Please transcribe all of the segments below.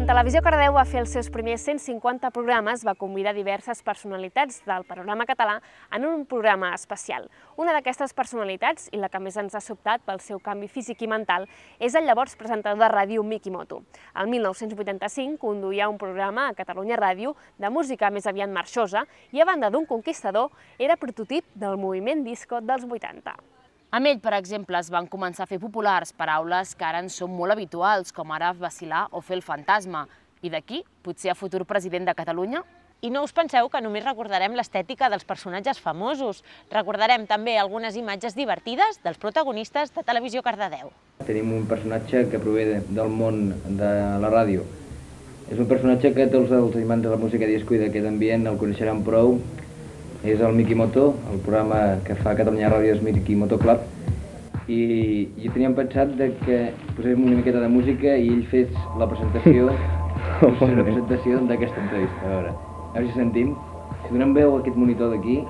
Quan Televisió Cardedeu va fer els seus primers 150 programes, va convidar diverses personalitats del panorama català en un programa especial. Una d'aquestes personalitats, i la que més ens ha sobtat pel seu canvi físic i mental, és el llavors presentador de ràdio Miki Moto. El 1985 conduïa un programa a Catalunya Ràdio de música més aviat marxosa i, a banda d'un conquistador, era prototip del moviment disco dels 80. Amb ell, per exemple, es van començar a fer populars paraules que ara ens són molt habituals, com ara vacilar o fer el fantasma. I d'aquí, potser a futur president de Catalunya? I no us penseu que només recordarem l'estètica dels personatges famosos. Recordarem també algunes imatges divertides dels protagonistes de Televisió Cardedeu. Tenim un personatge que prové del món de la ràdio. És un personatge que tots els amants de la música disco i d'aquest ambient el coneixeran prou. És el Miki Moto, el programa que fa Catalunya Ràdio és Miki Moto Club, i teníem pensat que poséssim una miqueta de música i ell fes la presentació d'aquesta entrevista. A veure si sentim. Si donem veu a aquest monitor d'aquí.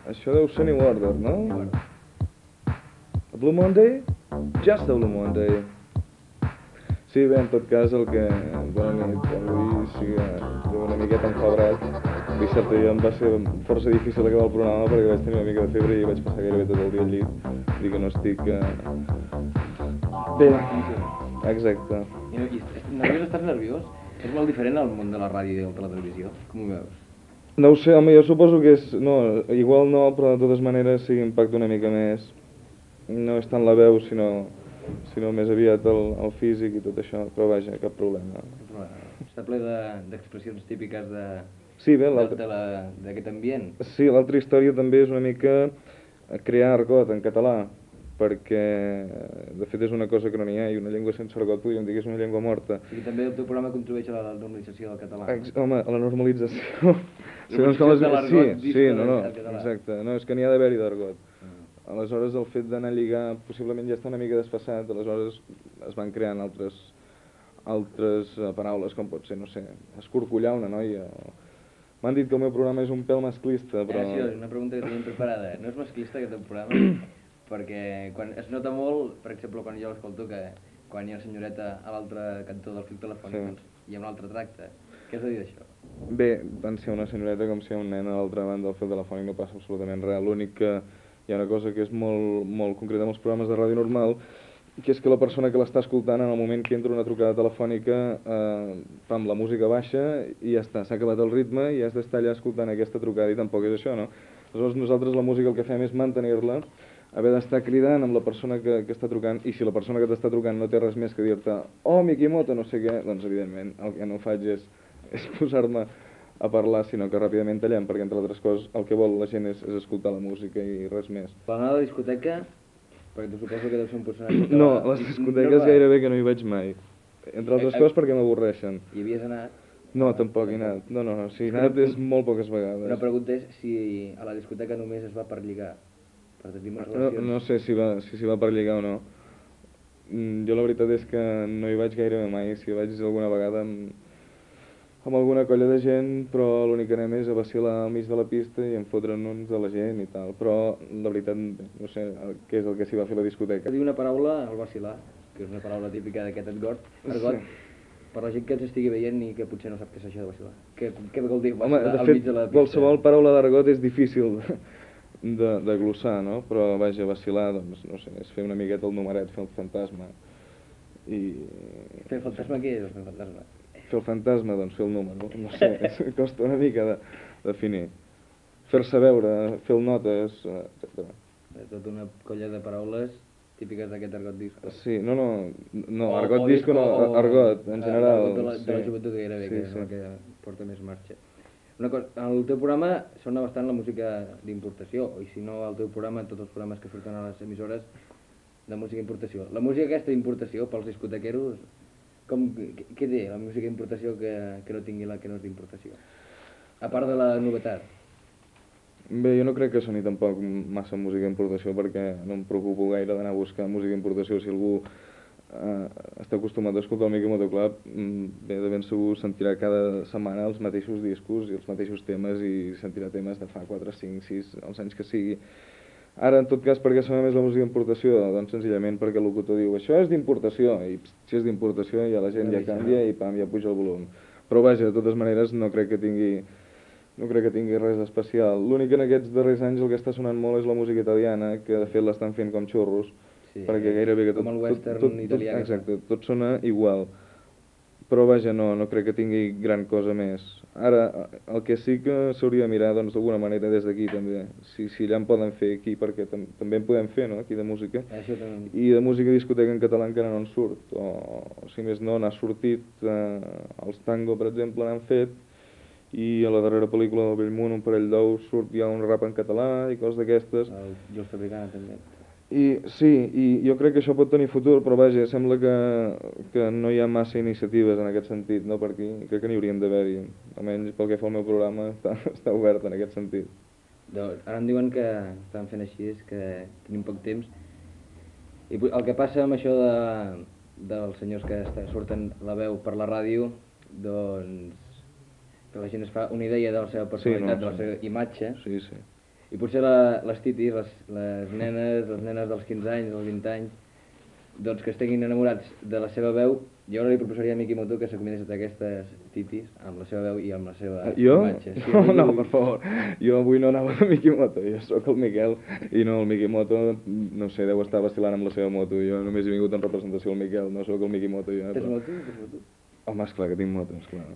Això deu ser New Order, no? Blue Monday? Just the Blue Monday. Sí, bé, en tot cas, el que... Bona nit, avui sí que una miqueta enfebrat. Dissabte ja em va ser força difícil acabar el programa perquè vaig tenir una mica de febre i vaig passar gairebé tot el dia al llit. Vull dir que no estic... Bé, exacte. Nerviós, estàs nerviós? És molt diferent al món de la ràdio i de la televisió? Com ho veus? No ho sé, home, jo suposo que és... No, igual no, però de totes maneres sí que impacta una mica més. No és tant la veu, sinó més aviat el físic i tot això, però vaja, cap problema. Està ple d'expressions típiques d'aquest ambient. Sí, l'altra història també és una mica crear argot en català, perquè de fet és una cosa que no n'hi ha, i una llengua sense argot podríem dir que és una llengua morta. I també el teu programa contribueix a la normalització del català. Home, a la normalització... Sí, exacte. No, és que n'hi ha d'haver-hi d'argot. Aleshores, el fet d'anar a lligar possiblement ja està una mica desfassat, aleshores es van creant altres paraules, com pot ser, no sé, escorcollar una noia. M'han dit que el meu programa és un pèl masclista, però... Sí, una pregunta que tenim preparada. No és masclista aquest programa? Perquè es nota molt, per exemple, quan jo l'escolto, que quan hi ha una senyoreta a l'altre cantó del fil telefònic, hi ha un altre tracte. Què has de dir d'això? Bé, tant si hi ha una senyoreta com si hi ha un nen a l'altra banda del fil telefònic no passa absolutament res. L'únic que hi ha una cosa que és molt concreta amb els programes de ràdio normal, que és que la persona que l'està escoltant en el moment que entra una trucada telefònica la música baixa i ja està, s'ha acabat el ritme i has d'estar allà escoltant aquesta trucada i tampoc és això, no? Aleshores nosaltres la música el que fem és mantenir-la, haver d'estar cridant amb la persona que està trucant, i si la persona que t'està trucant no té res més que dir-te «Oh, Miki Moto, no sé què», doncs evidentment el que no faig és posar-me a parlar, sinó que ràpidament tallem, perquè entre altres coses el que vol la gent és escoltar la música i res més. Quan anar a la discoteca, perquè tu suposo que deu ser un personatge... No, a les discoteques gairebé que no hi vaig mai. Entre altres coses perquè m'avorreixen. Hi havies anat? No, tampoc he anat. No, si he anat és molt poques vegades. Una pregunta és si a la discoteca només es va per lligar, per tenir unes relacions... No sé si s'hi va per lligar o no. Jo la veritat és que no hi vaig gairebé mai. Si hi vaig alguna vegada amb alguna colla de gent, però l'únic que anem és a vacilar al mig de la pista i enfotre'n uns de la gent i tal, però la veritat no sé què és el que s'hi va fer a la discoteca. Diu una paraula, el vacilar, que és una paraula típica d'aquest argot, per la gent que ens estigui veient i que potser no sap què és això de vacilar. Què vol dir vacilar al mig de la pista? Qualsevol paraula d'argot és difícil de glossar, no? Però vaja, vacilar, doncs, no sé, és fer una miqueta el numeret, fer el fantasma. Fer el fantasma què és, el fantasma? Fer el fantasma, doncs fer el número, no sé, costa una mica de definir. Fer-se veure, fer el notes, etc. Tota una colla de paraules típiques d'aquest argot disco. Sí, no, argot disco no, argot, en general. De la joventut gairebé, que és el que porta més marxa. Una cosa, el teu programa sona bastant la música d'importació, i si no el teu programa, tots els programes que surten a les emissores de música d'importació. La música aquesta d'importació pels discotequeros, què té la música d'importació que no tingui la que no és d'importació? A part de la novetat. Bé, jo no crec que soni tampoc massa música d'importació perquè no em preocupo gaire d'anar a buscar música d'importació. Si algú està acostumat a escoltar el Miqui Motoclub, bé de ben segur sentirà cada setmana els mateixos discos i els mateixos temes i sentirà temes de fa 4, 5, 6, els anys que sigui. Ara, en tot cas, per què sona més la música d'importació? Doncs senzillament perquè el locutor diu això és d'importació, i si és d'importació ja la gent ja canvia i pam, ja puja el volum. Però vaja, de totes maneres, no crec que tingui res d'especial. L'únic que en aquests darrers anys el que està sonant molt és la música italiana, que de fet l'estan fent com xurros, perquè gairebé que tot... Com el western italià. Exacte, tot sona igual. Però vaja, no crec que tingui gran cosa més. Ara, el que sí que s'hauria de mirar, doncs, d'alguna manera des d'aquí també, si allà en poden fer aquí, perquè també en podem fer, no?, aquí de música. I de música discoteca en català encara no en surt, o si més no, n'ha sortit, els Tango, per exemple, n'han fet, i a la darrera pel·lícula del Bellmunt, Un parell d'ous, surt ja un rap en català i coses d'aquestes. El Jules Fabricant també. Sí, i jo crec que això pot tenir futur, però vaja, sembla que no hi ha massa iniciatives en aquest sentit, no, per aquí. Crec que n'hi haurien d'haver-hi, almenys pel que fa al meu programa està obert en aquest sentit. Ara em diuen que estan fent així, que tenim poc temps, i el que passa amb això dels senyors que surten la veu per la ràdio, doncs que la gent es fa una idea de la seva personalitat, de la seva imatge. Sí. I potser les titis, les nenes dels 15 anys, dels 20 anys, doncs que estiguin enamorats de la seva veu, jo ara li proposaria a Miqui Moto que s'acomiadés a aquestes titis amb la seva veu i amb la seva imatge. Jo? No, per favor, jo avui no anava de Miqui Moto, jo sóc el Miquel i no, el Miqui Moto, no sé, deu estar vacilant amb la seva moto, jo només he vingut en representació del Miquel, no sóc el Miqui Moto ja. Tens moto? Home, esclar que tinc moto, esclar.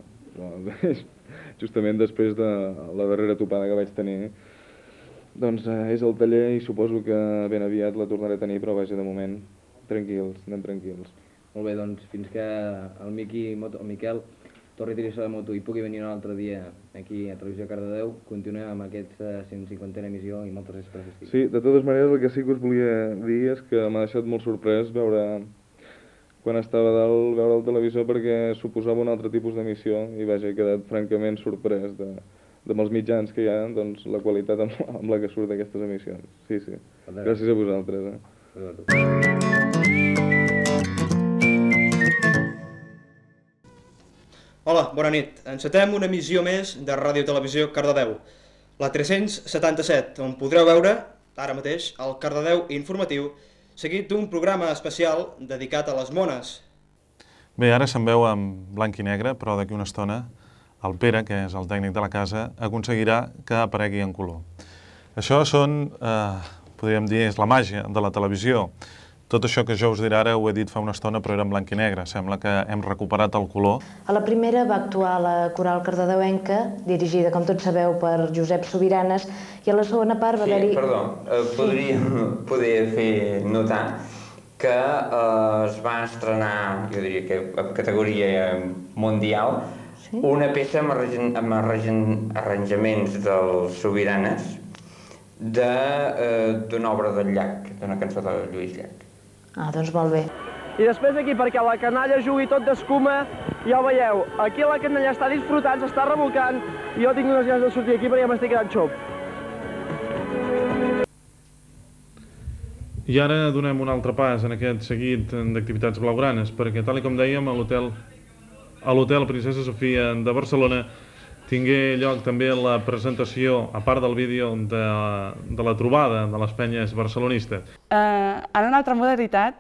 Justament després de la darrera topada que vaig tenir, doncs és el taller i suposo que ben aviat la tornaré a tenir, però vaja, de moment, tranquils, anem tranquils. Molt bé, doncs fins que el Miquel torni a tirar-se la moto i pugui venir un altre dia aquí a Televisió Cardedeu, continuem amb aquesta 150a emissió i moltes gràcies. Sí, de totes maneres, el que sí que us volia dir és que m'ha deixat molt sorprès veure, quan estava dalt, veure el televisor perquè suposava un altre tipus d'emissió i vaja, he quedat francament sorprès amb els mitjans que hi ha, doncs, la qualitat amb la que surt d'aquestes emissions. Sí. Gràcies a vosaltres. Hola, bona nit. Encetem una emissió més de Ràdio Televisió Cardedeu, la 377, on podreu veure, ara mateix, el Cardedeu informatiu, seguit d'un programa especial dedicat a les mones. Bé, ara se'n veu en blanc i negre, però d'aquí una estona el Pere, que és el tècnic de la casa, aconseguirà que aparegui en color. Això podríem dir, és la màgia de la televisió. Tot això que jo us diré ara ho he dit fa una estona, però era en blanc i negre. Sembla que hem recuperat el color. A la primera va actuar la coral cardedeuenca, dirigida, com tots sabeu, per Josep Sobiranes, i a la segona part va haver-hi... Sí, perdó, podria fer notar que es va estrenar, jo diria que a categoria mundial, una peça amb arranjaments dels Sobiranes d'una obra del Llach, d'una cançó de Lluís Llach. Doncs molt bé. I després aquí, perquè la canalla jugui tot d'escuma, ja ho veieu, aquí la canalla està disfrutant, s'està revolcant, i jo tinc unes ganes de sortir aquí perquè ja m'estic quedant xop. I ara donem un altre pas en aquest seguit d'activitats blaugranes, perquè tal com dèiem, a l'Hotel Princesa Sofia de Barcelona tingué lloc també la presentació, a part del vídeo, de la trobada de les penyes barcelonistes. En una altra modalitat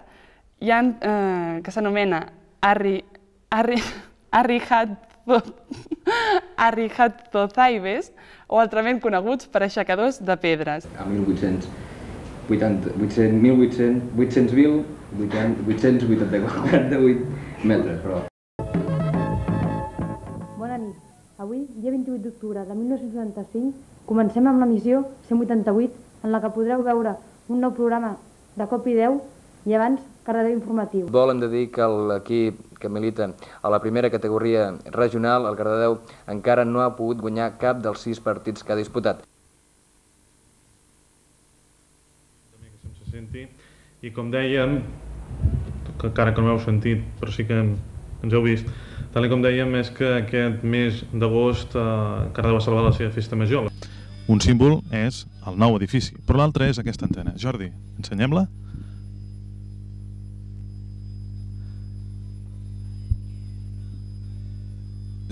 hi ha que s'anomena Arrihatzozaibes, o altrament coneguts per aixecadors de pedres. A 888 metres, però... Bona nit. Avui, dia 28 d'octubre de 1975, comencem amb l'emissió 188, en la que podreu veure un nou programa de cop i 10 i abans Cardedeu Informatiu. Hem de dir que l'equip que milita a la primera categoria regional, el Cardedeu, encara no ha pogut guanyar cap dels 6 partits que ha disputat. I com dèiem, encara que no ho heu sentit, però sí que ens heu vist, tal com dèiem, és que aquest mes d'agost Cardedeu va celebrar la seva festa major. Un símbol és el nou edifici, però l'altre és aquesta antena. Jordi, ensenyem-la?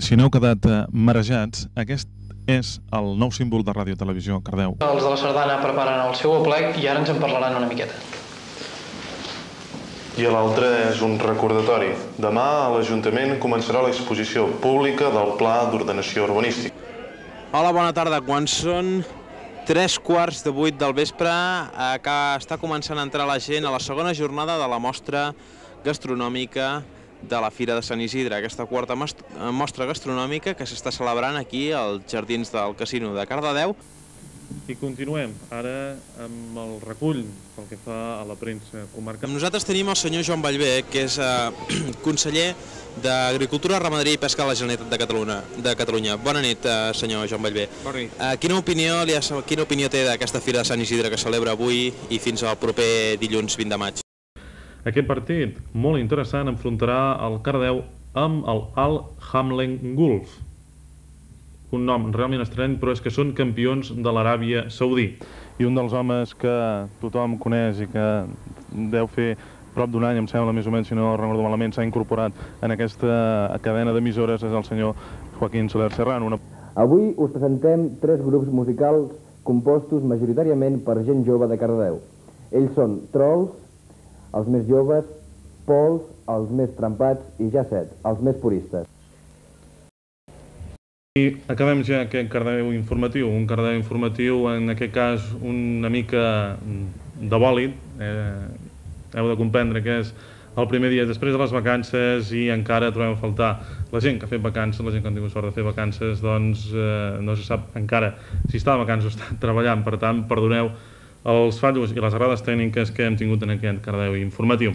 Si no heu quedat marejats, aquest és el nou símbol de Ràdio Televisió Cardedeu. Els de la Sardana preparen el seu aplec i ara ens en parlaran una miqueta. I l'altre és un recordatori. Demà a l'Ajuntament començarà l'exposició pública del Pla d'Ordenació Urbanística. Hola, bona tarda. Quan són 7:15 del vespre, està començant a entrar la gent a la segona jornada de la mostra gastronòmica de la Fira de Sant Isidre, aquesta quarta mostra gastronòmica que s'està celebrant aquí als jardins del Casino de Cardedeu. I continuem ara amb el recull pel que fa a la premsa comarcal. Amb nosaltres tenim el senyor Joan Vallvé, que és conseller d'Agricultura, Ramaderia i Pesca de la Generalitat de Catalunya. Bona nit, senyor Joan Vallvé. Bona nit. Quina opinió té d'aquesta Fira de Sant Isidre que celebra avui i fins al proper dilluns 20 de maig? Aquest partit, molt interessant, enfrontarà el Cardedeu amb el Al Hamlen Gulf. Un nom realment estrany, però és que són campions de l'Aràbia Saudí. I un dels homes que tothom coneix i que deu fer prop d'un any, em sembla, més o menys, si no recordo malament, s'ha incorporat en aquesta cadena d'emissores, és el senyor Joaquín Soler Serrano. Avui us presentem 3 grups musicals compostos majoritàriament per gent jove de Cardedeu. Ells són Trolls, els més joves, Pols, els més trempats, i Jacet, els més puristes. I acabem ja aquest Cardedeu informatiu, un Cardedeu informatiu, en aquest cas una mica de bòlit. Heu de comprendre que és el primer dia després de les vacances i encara trobem a faltar la gent que ha fet vacances, la gent que ha tingut sort de fer vacances, doncs no se sap encara si està de vacances o està treballant, per tant, perdoneu els fallos i les errades tècniques que hem tingut en aquest Cardedeu informatiu.